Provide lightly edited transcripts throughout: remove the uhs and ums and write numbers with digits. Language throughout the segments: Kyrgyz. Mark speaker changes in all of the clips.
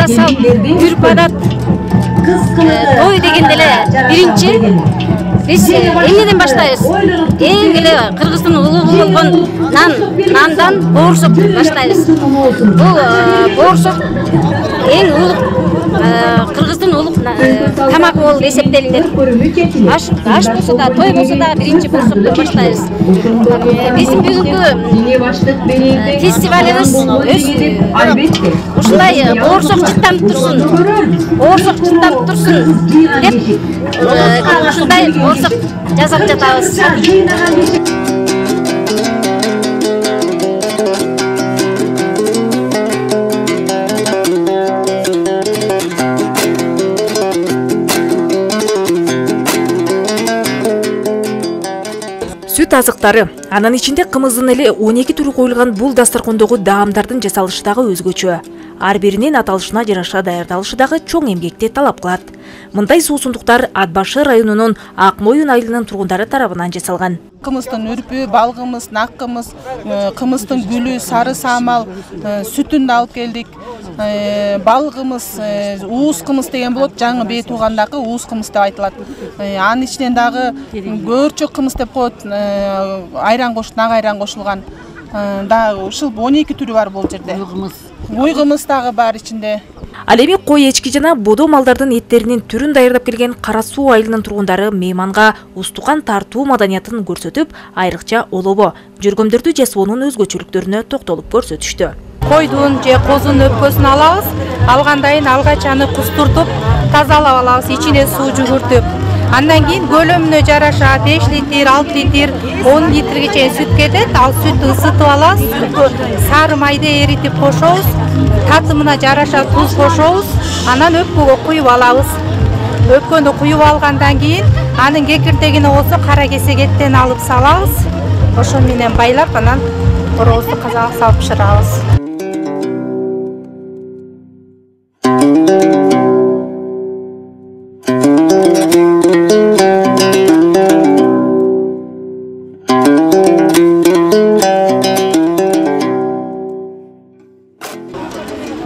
Speaker 1: асал, үрп адат, той дегенде эле биринчи биз эмнеден баштайбыз? Эң эле Кыргыздын улугу болгон нандан боорсок баштайбыз. Бул боорсок эң улуг Кыргыздын улуг тамагы болуп эсептелинет. Аш болсо да, той болсо да биринчи боорсоктон баштайбыз. Биздин бүгүнкү фестивалыбыз ушундай боорсок жыттанып турсун деп ушундай боорсок жасап жатабыз.
Speaker 2: Сүт азыктары, анын ичинде кымыздын эле 12 түрү коюлган бул дасторкондогу даамдардын жасалышы дагы өзгөчө. Ар биринин аталышына жараша даярдалышы дагы чоң эмгекти талап кылат. Мындай суусундуктар Ат башы районунун Ак Моюн айылынын тургундары тарабынан жасалган.
Speaker 3: Кымыздын үрпү, балгымыз, наккымыз, кымыздын гүлү, сары самал, сүтүн да алып келдик. Балгымыз, уус кымыз деген болот, жаңы бээ туугандагы уус кымыз деп айтылат. Анын ичинен дагы көөрчөк кымыз деп коет, айран нак айран кошулган. Дагы ушул 12 түрү бар бул жерде. Ой кымыз дагы бар ичинде.
Speaker 2: Ал эми кой, эчки жана бодо малдардын эттеринин түрүн даярдап келген Кара Суу айылынын тургундары мейманга устукан тартуу маданиятын көрсөтүп, айрыкча олобо, жөргөмдөрдү жасоонун өзгөчөлүктөрүнө токтолуп көрсөтүштү.
Speaker 4: Койдун же козунун өпкөсүн алабыз, алгандан кийин алгач аны кустуртуп, тазалап алабыз, ичине суу жүгүртүп. Андан кийин көлөмүнө жараша 5 литр, 6 литр, 10 литрге чейин сүт кетет. Ал сүттү ысытып алабыз, сары майды эритип кошобуз, татымына жараша туз кошобуз, анан өпкөгө куюп алабыз. Өпкөнү куюп алгандан кийин анын кекиртегине болсо кара кесек эттен алып салабыз. Ошо менен байлап анан коробузду казага салып бышырабыз.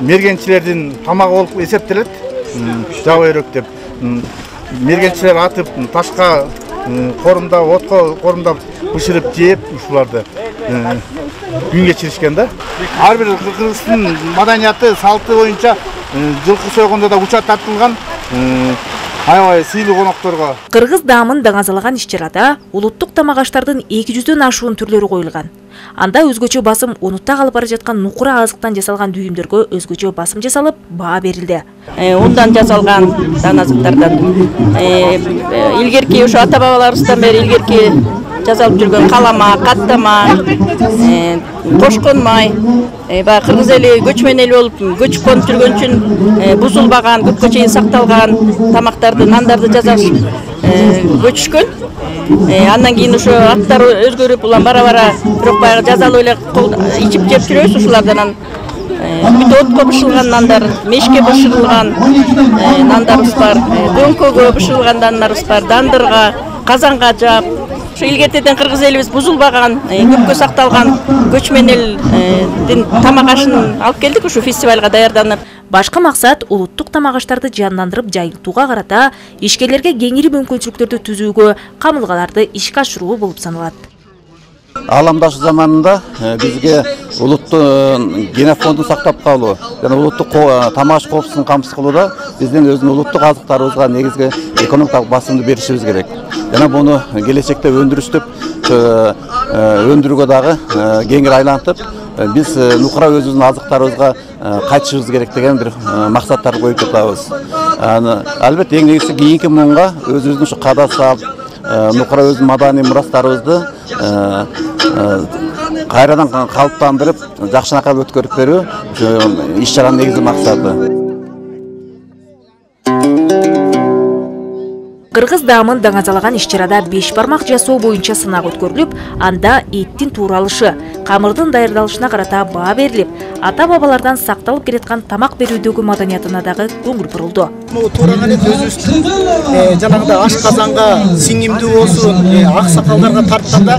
Speaker 5: Мергенчилердин тамагы болуп эсептелет. Жаба өрөк деп. Мергенчилер атып, ташка корумдап, отко корумдап бышырып жеп ушуларды күн кечиришкен да. Ар бир Кыргыздын маданияты, салты боюнча жылкы сойгондо да учат тартылган. Аябай сыйлуу конокторго.
Speaker 2: Кыргыз даамын даңазалаган иш-чарада улуттук тамак аштардын 200дөн ашуун түрлөрү коюлган. Анда өзгөчө басым унутта калып бара жаткан нукура азыктан жасалган дүйүмдөргө өзгөчө басым жасалып, баа берилди.
Speaker 6: Ундан жасалган дан азыктардан илгерки ошо ата-бабаларыбыздан бери илгерки жасалып жүргөн калама, каттама, кошкон май, баягы кыргыз эли көчмөн эл болуп көчүп конуп жүргөн үчүн бузулбаган, көпкө чейин сакталган тамактарды, нандарды жасашып көчүшкөн. Андан кийин ошо аттар өзгөрүп, улам бара-бара бирок баягы жазалуу эле ичип жеп жүрөбүз ушулардан. Бүт отко бышылган нандар, мешке бышырылган нандарыбыз бар, дөңкөгө бышырылган нандарыбыз бар, дандырга, казанга жаап. Ошо илгертеден кыргыз элибиз бузулбаган, көпкө сакталган көчмөн элдин тамак ашын алып келдик ушу фестивалга даярданып.
Speaker 2: Башкы максат улуттук тамак аштарды жандандырып жайылтууга карата ишкерлерге кеңири мүмкүнчүлүктөрдү түзүүгө, камылгаларды ишке ашыруу болуп саналат.
Speaker 7: Ааламдашы заманында бизге улуттук генофондун сактап калуу жана улуттук тамак аш коопсуздугун камсыз кылууда биздин өзүнүн улуттук азыктарыбызга негизги экономикалык басымды беришибиз керек. Жана буну келечекте өндүрүштүп, өндүрүүгө дагы кеңири айлантып, биз нукура өзүбүздүн азыктарыбызга кайтышыбыз керек деген бир максаттарды коюп жатабыз. Албетте эң негизги кийинки муунга өзүбүздүн ушу када салт, нукура өзүнүн маданий мурастарыбызды кайрадан калыптандырып, жакшынакай өткөрүп берүү иш-чаранын негизги максаты.
Speaker 2: Кыргыз даамын даңазалаган иш-чарада 5 бармак жасоо боюнча сынак өткөрүлүп, анда эттин тууралышы, камырдын даярдалышына карата баа берилип, ата бабалардан сакталып келаткан тамак берүүдөгү маданиятына дагы көңүл бурулду.
Speaker 8: Туураган эт өзүбүздүн жанагындай ашказанга сиңимдүү болсун, аксакалдарга тартканда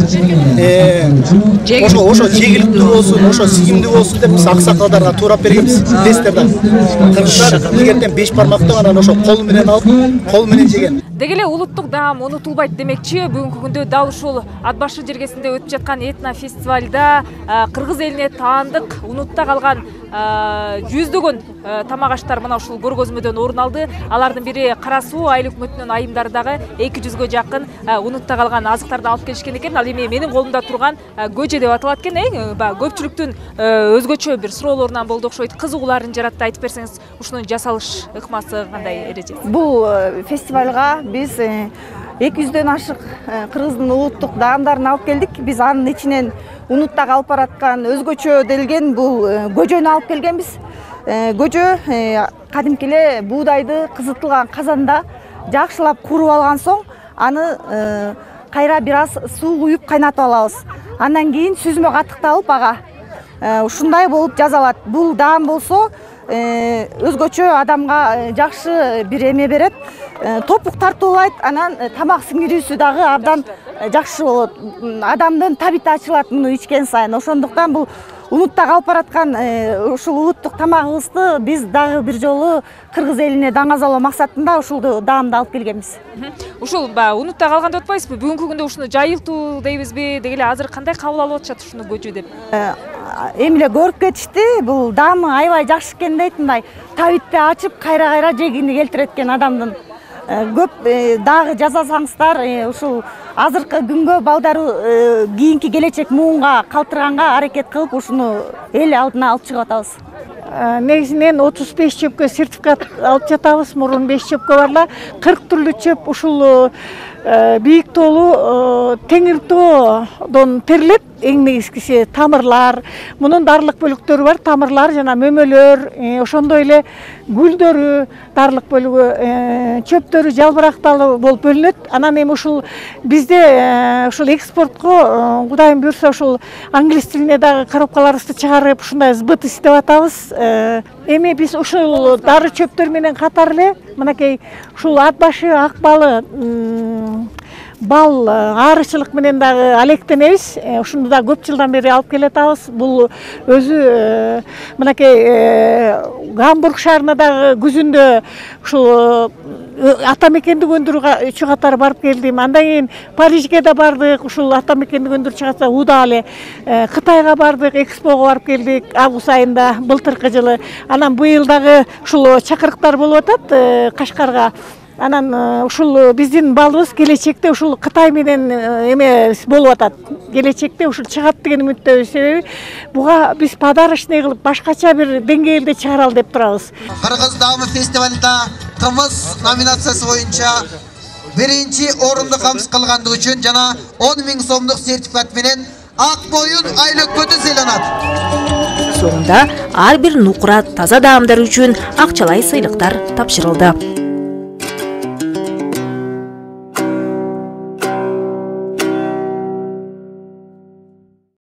Speaker 8: ошо жегиликтүү болсун, ошо сиңимдүү болсун деп биз аксакалдарга туурап бергенбиз. Билесиздер да. Кыргыздар илгертен 5 бармактан анан ошо кол менен алып, кол менен жеген.
Speaker 2: Деги эле улуттук даам унутулбайт демекчи, бүгүнкү күндө дал ушул Ат башы жергесинде өтүп жаткан этно фестивалда кыргыз элине таандык унутта калган жүздөгөн тамак аштар мына ушул көргөзмөдөн орун алды. Алардын бири Кара Суу айыл өкмөтүнүн айымдары дагы 200гө жакын унутта калган азыктарды алып келишкен экен. Ал эми менин колумда турган көжө деп аталат экен. Көпчүлүктүн өзгөчө бир суроолорунан болду окшойт. Кызыгууларын жаратты. Айтып берсеңиз, ушунун жасалыш ыкмасы кандай эреже?
Speaker 9: Бул фестивалга биз 200дөн ашык кыргыздын улуттук даамдарын алып келдик. Биз анын ичинен унутта калып бараткан өзгөчө делген бул көжөнү алып келгенбиз. Көжө кадимки эле буудайды кызытылган казанда жакшылап кууруп алган соң, аны кайра бир аз суу куюп кайнатып алабыз. Андан кийин сүзмө катыкталып ага ушундай болуп жасалат. Бул даам болсо өзгөчө адамга жакшы бир эме берет, топук тартуулайт, анан тамак сиңирүүсү дагы абдан жакшы болот. Адамдын табити ачылат муну ичкен сайын. Ошондуктан бул унутта калып бараткан ушул улуттук тамагыбызды биз дагы бир жолу кыргыз элине даңазалоо максатында ушул даамды алып келгенбиз.
Speaker 2: Ушул унутта калган деп атпайсызбы? Бүгүнкү күндө ушуну жайылтуу дейбизби? Деги эле азыр кандай кабыл алып атышат ушуну көжө деп?
Speaker 9: Эми эле көрүп кетишти. Бул даамы аябай жакшы экен дейт, мындай табитти ачып кайра жегини келтирет экен адамдын. Көп дагы жасасаңыздар, ушул азыркы күнгө балдары кийинки келечек муунга калтырганга аракет кылып, ушуну эл алдына алып чыгып атабыз.
Speaker 10: Негизинен 35 чөпкө сертификат алып жатабыз. Мурун 5 чөпкө барла 40 түрлүү чөп ушул бийик тоолуу теңир тоодон терилет. Эң негизгиси тамырлар, мунун дарылык бөлүктөрү бар, тамырлар жана мөмөлөр, ошондой эле гүлдөрү, дарылык бөлүгү, чөптөрү жалбыракталуу болуп бөлүнөт. Анан эми ушул бизде ушул экспортко Кудайым буйрса ушул англис тилине дагы коробкаларыбызды чыгарып, ушундай сбытыс деп атабыз. Эми биз ушул дары чөптөр менен катар эле мынакей ушул ат башы, ак балы, бал, арычылык менен дагы алектенебиз. Ушуну да көп жылдан бери алып келатабыз. Бул өзү мынакей Гамбург шаарына дагы күзүндө ушул ата мекендик өндүрүүгө 3 катар барып келдим. Андан кийин Парижге да бардык. Ушул ата мекендик өндүрүү чыгаса уда эле Кытайга бардык, экспого барып келдик август айында былтыркы жылы. Анан быйыл дагы ушул чакырыктар болуп атат Кашкарга. Анан ушул биздин балыбыз келечекте ушул Кытай менен эме болуп атат. Келечекте ушул чыгат деген үмүттөбүз. Себеби буга биз подарочный кылып башкача бир деңгээлде чыгаралы деп турабыз.
Speaker 11: Кыргыз даамы фестивалында кымыз номинациясы боюнча биринчи орунду камсыз кылгандыгы үчүн жана 10 000 сомдук сертификат менен Ак Боюн айыл өкмөтү сыйланат.
Speaker 2: Соңунда ар бир нукура таза даамдар үчүн акчалай сыйлыктар тапшырылды.